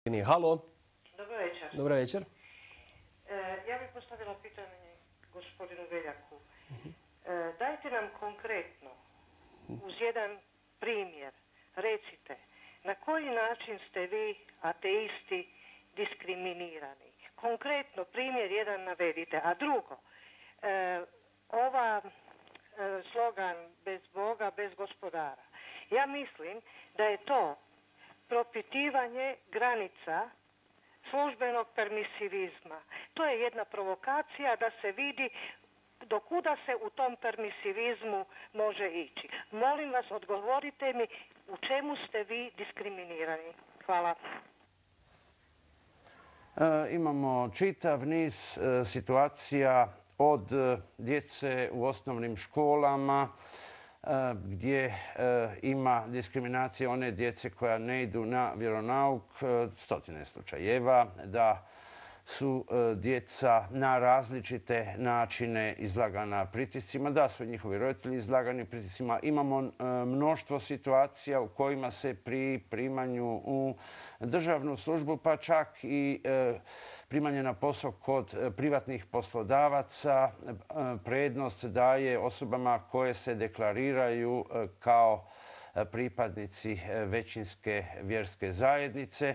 Halo. Dobro večer. Dobar večer. Ja bih postavila pitanje gospodinu Veljaku. Dajte nam konkretno, uz jedan primjer, recite, na koji način ste vi, ateisti, diskriminirani? Konkretno, primjer jedan navedite. A drugo, slogan bez Boga, bez gospodara. Ja mislim da je to propitivanje granica službenog permisivizma. To je jedna provokacija da se vidi do kuda se u tom permisivizmu može ići. Molim vas, odgovorite mi u čemu ste vi diskriminirani. Hvala. Imamo čitav niz situacija od djece u osnovnim školama gdje ima diskriminacije one djece koja ne idu na vjeronauk, stotine slučajeva, da su djeca na različite načine izlagana pritiscima, da su njihovi roditelji izlagani pritiscima. Imamo mnoštvo situacija u kojima se pri primanju u državnu službu, pa čak i primanje na posao kod privatnih poslodavaca, prednost daje osobama koje se deklariraju kao pripadnici većinske vjerske zajednice.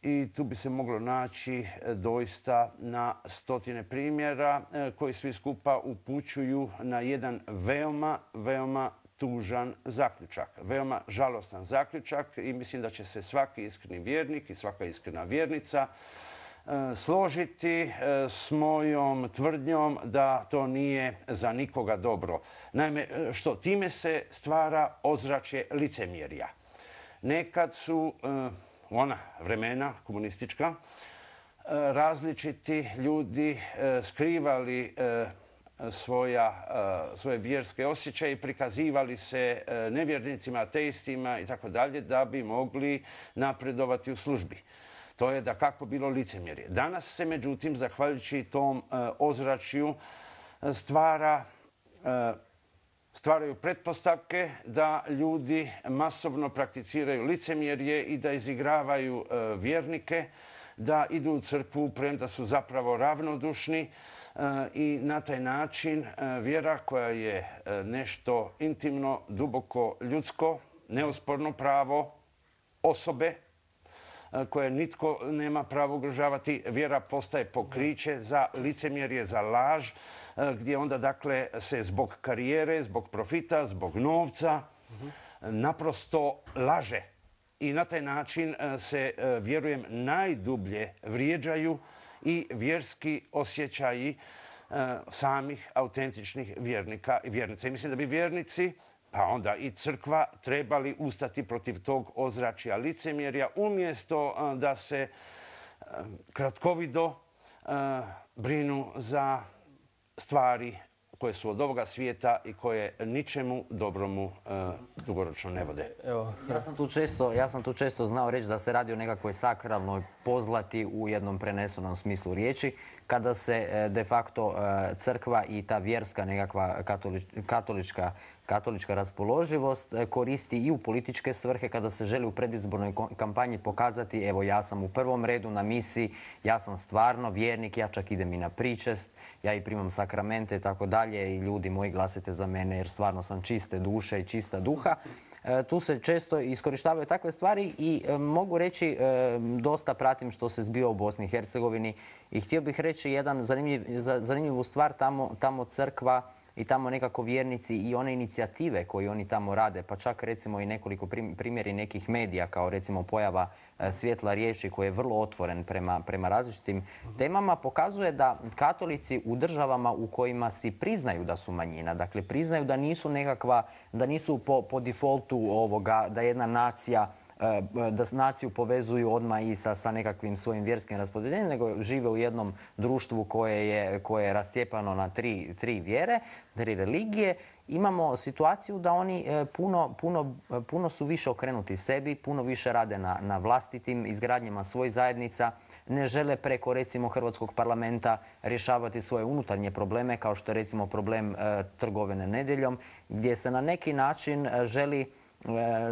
I tu bi se moglo naći doista na stotine primjera koji svi skupa upućuju na jedan veoma tužan zaključak, veoma žalostan zaključak i mislim da će se svaki iskreni vjernik i svaka iskrena vjernica složiti s mojom tvrdnjom da to nije za nikoga dobro. Naime, što time se stvara ozračje licemjerja. Nekad su ona vremena komunistička, različiti ljudi skrivali svoje vjerske osjećaje i prikazivali se nevjernicima, ateistima i tako dalje da bi mogli napredovati u službi. To je dakako bilo licemjerje. Danas se, međutim, zahvaljujući tom ozračju stvaraju pretpostavke da ljudi masovno prakticiraju licemjerje i da izigravaju vjernike, da idu u crkvu premda su zapravo ravnodušni i na taj način vjera koja je nešto intimno, duboko ljudsko, neosporno pravo osobe koje nitko nema pravo ugrožavati, vjera postaje pokriće za licemjerje, za laž, gdje onda dakle se zbog karijere, zbog profita, zbog novca naprosto laže. I na taj način se, vjerujem, najdublje vrijeđaju i vjerski osjećaji samih autentičnih vjernika i vjernica. I mislim da bi vjernici, pa onda i crkva, trebali ustati protiv tog ozračja licemjerja umjesto da se kratkovido brinu za stvari koje su od ovoga svijeta i koje ničemu dobromu dugoročno ne vode. Ja sam tu često znao reći da se radi o nekakvoj sakralnoj pozlati u jednom prenesenom smislu riječi, kada se de facto crkva i ta vjerska nekakva katolička raspoloživost koristi i u političke svrhe, kada se želi u predizbornoj kampanji pokazati evo ja sam u prvom redu na misiji, ja sam stvarno vjernik, ja čak idem i na pričest, ja i primam sakramente i tako dalje i ljudi moji glasajte za mene jer stvarno sam čiste duše i čista duha. Tu se često iskorištavaju takve stvari i mogu reći dosta pratim što se zbiva u Bosni i Hercegovini i htio bih reći jedan zanimljivu stvar, tamo crkva i tamo nekako vjernici i one inicijative koje oni tamo rade, pa čak recimo i nekoliko primjeri nekih medija kao recimo pojava Svjetla riječi koji je vrlo otvoren prema različitim temama, pokazuje da katolici u državama u kojima si priznaju da su manjina, dakle priznaju da nisu da nisu po defaultu ovoga, da jedna nacija da naciju povezuju odmah i sa nekakvim svojim vjerskim raspodjeljenjem, nego žive u jednom društvu koje je rascijepano na tri vjere, tri religije. Imamo situaciju da oni puno su više okrenuti sebi, puno više rade na vlastitim izgradnjama svojih zajednica, ne žele preko recimo Hrvatskog parlamenta rješavati svoje unutarnje probleme kao što je recimo problem trgovine nedjeljom, gdje se na neki način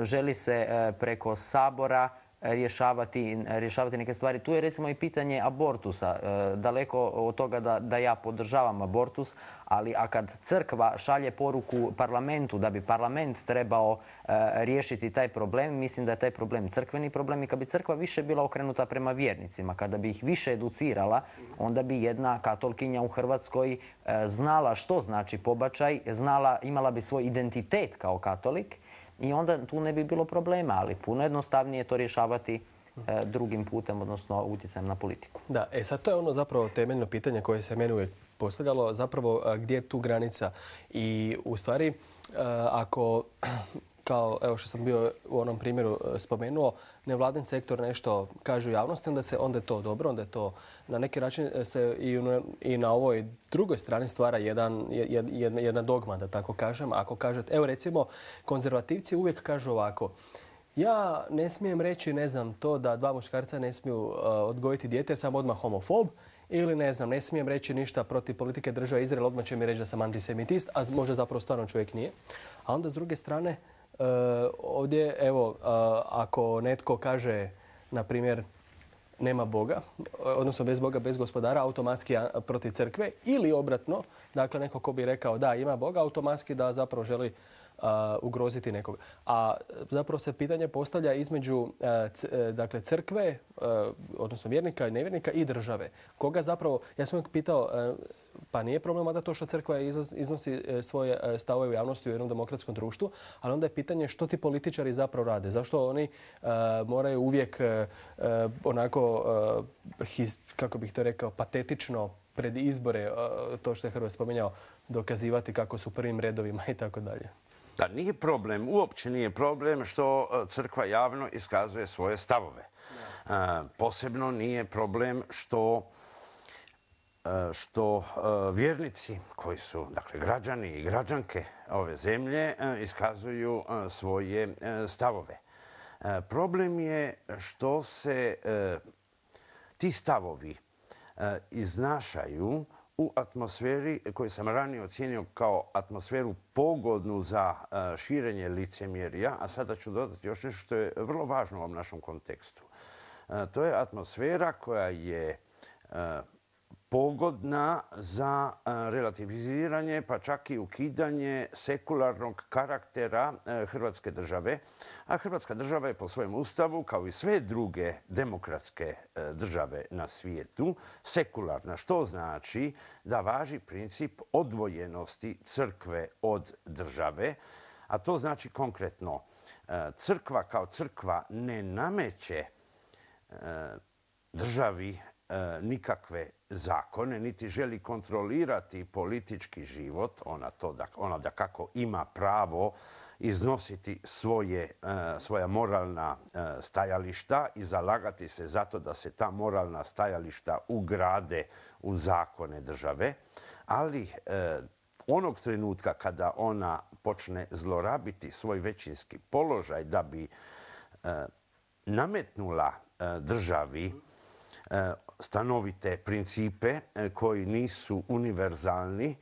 želi se preko Sabora rješavati neke stvari. Tu je recimo i pitanje abortusa. Daleko od toga da ja podržavam abortus, ali kad crkva šalje poruku parlamentu da bi parlament trebao riješiti taj problem, mislim da je taj problem crkveni problem i kad bi crkva više bila okrenuta prema vjernicima, kada bi ih više educirala, onda bi jedna katolkinja u Hrvatskoj znala što znači pobačaj, imala bi svoj identitet kao katolik i onda tu ne bi bilo problema, ali puno jednostavnije je to rješavati drugim putem, odnosno utjecajem na politiku. Da, sad to je ono zapravo temeljno pitanje koje se meni uvijek postavljalo, zapravo gdje je tu granica. I u stvari, ako, kao evo što sam bio u onom primjeru spomenuo, nevladin sektor nešto kaže u javnosti, onda je to dobro, onda je to na neki način se i na ovoj drugoj strani stvara jedna dogma, da tako kažem. Ako kažete, evo recimo, konzervativci uvijek kažu ovako: ja ne smijem reći, ne znam, to da dva muškarca ne smiju odgojiti dijete jer sam odmah homofob, ili ne znam, ne smijem reći ništa protiv politike države Izrael, odmah će mi reći da sam antisemitist, a možda zapravo stvarno čovjek nije. A onda s druge strane, ovdje, evo, ako netko kaže, na primjer, nema Boga, odnosno bez Boga, bez gospodara, automatski protiv crkve, ili obratno, dakle neko ko bi rekao da ima Boga, automatski da zapravo želi ugroziti nekoga. A zapravo se pitanje postavlja između dakle, crkve, odnosno vjernika i nevjernika, i države. Koga zapravo, ja sam uvijek pitao, pa nije problem da to što crkva iznosi svoje stavove u javnosti u jednom demokratskom društvu, ali onda je pitanje što ti političari zapravo rade. Zašto oni moraju uvijek onako, kako bih to rekao, patetično pred izbore, to što je Hrvoje spominjao, dokazivati kako su u prvim redovima i tako dalje. Da, nije problem, uopće nije problem što crkva javno iskazuje svoje stavove. Posebno nije problem što vjernici koji su, dakle, građani i građanke ove zemlje iskazuju svoje stavove. Problem je što se ti stavovi iznašaju u atmosferi koju sam ranije ocijenio kao atmosferu pogodnu za širenje licemjerja, a sada ću dodati još nešto što je vrlo važno u ovom našem kontekstu. To je atmosfera koja je pogodna za relativiziranje, pa čak i ukidanje sekularnog karaktera Hrvatske države. A Hrvatska država je po svojem ustavu, kao i sve druge demokratske države na svijetu, sekularna. Što znači da važi princip odvojenosti crkve od države. A to znači konkretno, crkva kao crkva ne nameće državi nikakve zakone, niti želi kontrolirati politički život. Ona dakako ima pravo iznositi svoja moralna stajališta i zalagati se zato da se ta moralna stajališta ugrade u zakone države. Ali onog trenutka kada ona počne zlorabiti svoj većinski položaj da bi nametnula državi stanovite principe koji nisu univerzalni,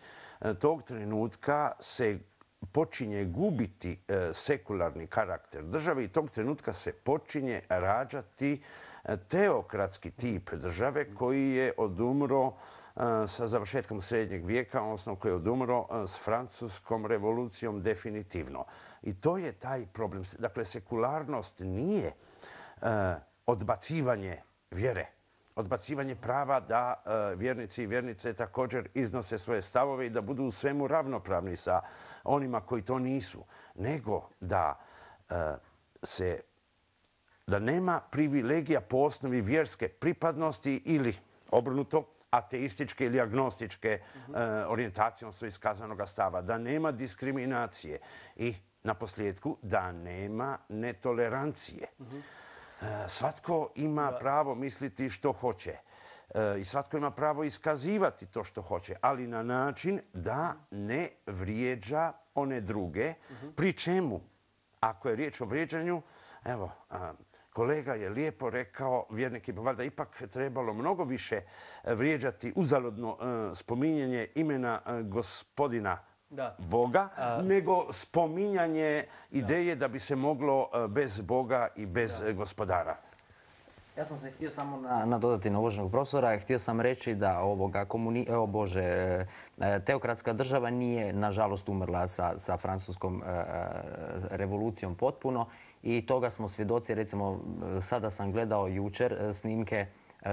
tog trenutka se počinje gubiti sekularni karakter države i tog trenutka se počinje rađati teokratski tip države koji je odumro sa završetkom srednjeg vijeka, odnosno koji je odumro s Francuskom revolucijom definitivno. I to je taj problem. Dakle, sekularnost nije odbacivanje vjere, odbacivanje prava da vjernici i vjernice također iznose svoje stavove i da budu u svemu ravnopravni sa onima koji to nisu, nego da nema privilegija po osnovi vjerske pripadnosti ili obrnuto ateističke ili agnostičke orijentacije, odnosno iskazanog stava, da nema diskriminacije i naposljetku da nema netolerancije. Svatko ima pravo misliti što hoće i svatko ima pravo iskazivati to što hoće, ali na način da ne vrijeđa one druge, pri čemu, ako je riječ o vrijeđanju, evo, kolega je lijepo rekao, vjernik bi valjda ipak trebalo mnogo više vrijeđati uzaludno spominjanje imena gospodina Boga, nego spominjanje ideje da bi se moglo bez Boga i bez gospodara. Ja sam se htio samo nadodati na uvaženog profesora. Htio sam reći da teokratska država nije, nažalost, umrla sa francuskom revolucijom potpuno. I toga smo svjedoci. Recimo, sada sam gledao jučer snimke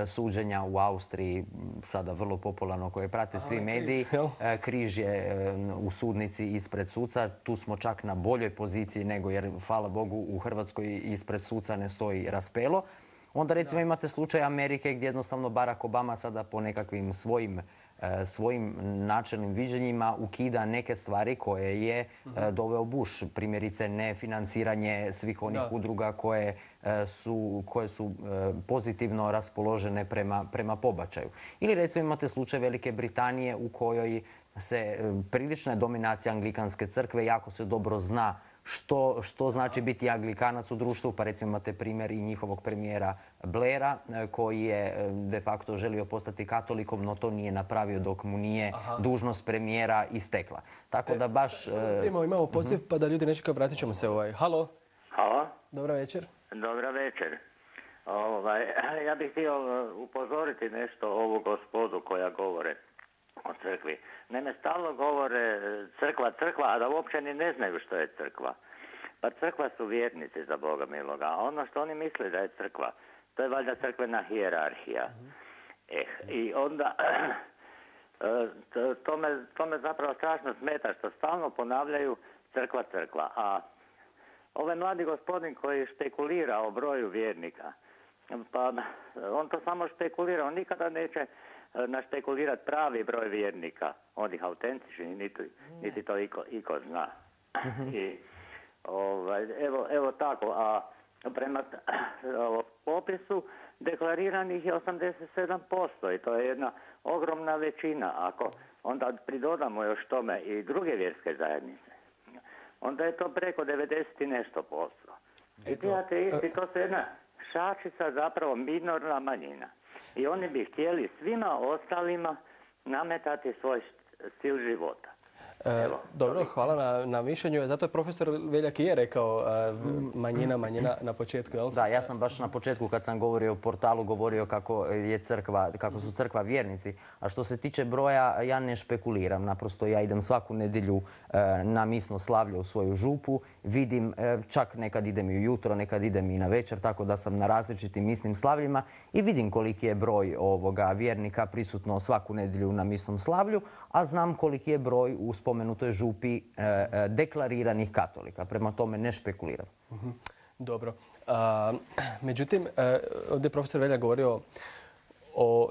suđenja u Austriji, sada vrlo popularno, koje prate svi mediji. Križ je u sudnici ispred suca. Tu smo čak na boljoj poziciji nego, jer, hvala Bogu, u Hrvatskoj ispred suca ne stoji raspelo. Onda recimo imate slučaj Amerike gdje jednostavno Barack Obama sada po nekakvim svojim načelnim viđenjima ukida neke stvari koje je doveo Bush. Primjerice nefinanciranje svih onih udruga koje su pozitivno raspoložene prema pobačaju. Ili recimo imate slučaj Velike Britanije u kojoj se prilična je dominacija Anglikanske crkve, jako se dobro zna što znači biti anglikanac u društvu, pa recimo imate primjer i njihovog premijera Blaira koji je de facto želio postati katolikom, no to nije napravio dok mu nije dužnost premijera istekla. Tako da baš... Imamo poziv pa da ljudi ne čekaju, vratit ćemo se. Halo? Halo? Dobra večer. Dobra večer. Ja bih htio upozoriti nešto ovu gospodu koja govore o crkvi. Naime, stalno govore crkva, a da uopće ni ne znaju što je crkva. Pa crkva su vjernici, za Boga miloga. A ono što oni misle da je crkva, to je valjda crkvena hijerarhija. I onda to me zapravo strašno smeta što stalno ponavljaju crkva. A ovaj mladi gospodin koji špekulira o broju vjernika, pa on to samo špekulira, on nikada neće našpekulirati pravi broj vjernika, onih autentičnih, niti to iko zna. I, evo tako, a prema popisu deklariranih je 87% i to je jedna ogromna većina. Ako onda pridodamo još tome i druge vjerske zajednice, onda je to preko 90 i nešto posto. I ti ateisti, to su jedna šačica, zapravo minorna manjina. I oni bi htjeli svima ostalima nametati svoj stil života. Dobro, hvala na mišljenju. Zato je profesor Veljak i je rekao manjina na početku, jel? Da, ja sam baš na početku kad sam govorio o portalu govorio kako su crkva vjernici. A što se tiče broja, ja ne špekuliram. Naprosto ja idem svaku nedjelju na misno slavlje u svoju župu. Vidim, čak nekad idem i ujutro, nekad idem i na večer, tako da sam na različitim misnim slavljima i vidim koliki je broj vjernika prisutno svaku nedjelju na misnom slavlju, a znam koliki je broj u spomenutoj župi deklariranih katolika. Prema tome ne špekuliram. Dobro. Međutim, ovdje je profesor Veljak govorio o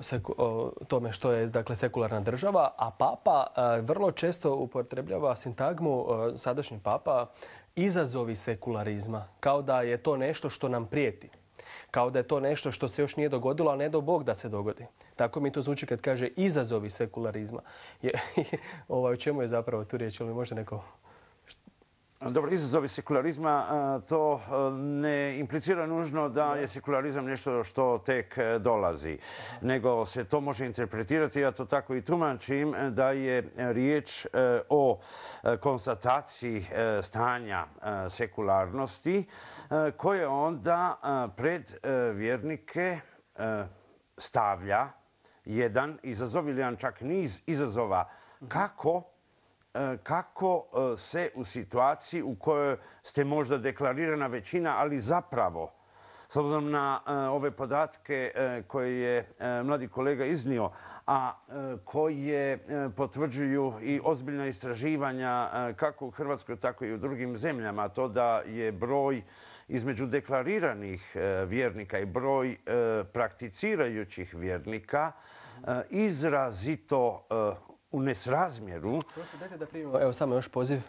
tome što je sekularna država, a papa vrlo često upotrebljava sintagmu, sadašnji papa, izazovi sekularizma. Kao da je to nešto što nam prijeti. Kao da je to nešto što se još nije dogodilo, a ne do Bog da se dogodi. Tako mi to zvuči kad kaže izazovi sekularizma. O čemu je zapravo tu riječ? Ili možda neko... Dobro, izazovi sekularizma, to ne implicira nužno da je sekularizam nešto što tek dolazi, nego se to može interpretirati, ja to tako i tumačim, da je riječ o konstataciji stanja sekularnosti koje onda pred vjernike stavlja jedan izazov ili jedan čak niz izazova kako se u situaciji u kojoj ste možda deklarirana većina, ali zapravo, s obzirom na ove podatke koje je mladi kolega iznio, a koje potvrđuju i ozbiljna istraživanja kako u Hrvatskoj, tako i u drugim zemljama, to da je broj između deklariranih vjernika i broj prakticirajućih vjernika izrazito u nesrazmjeru. Dajte da primimo, evo samo još poziv.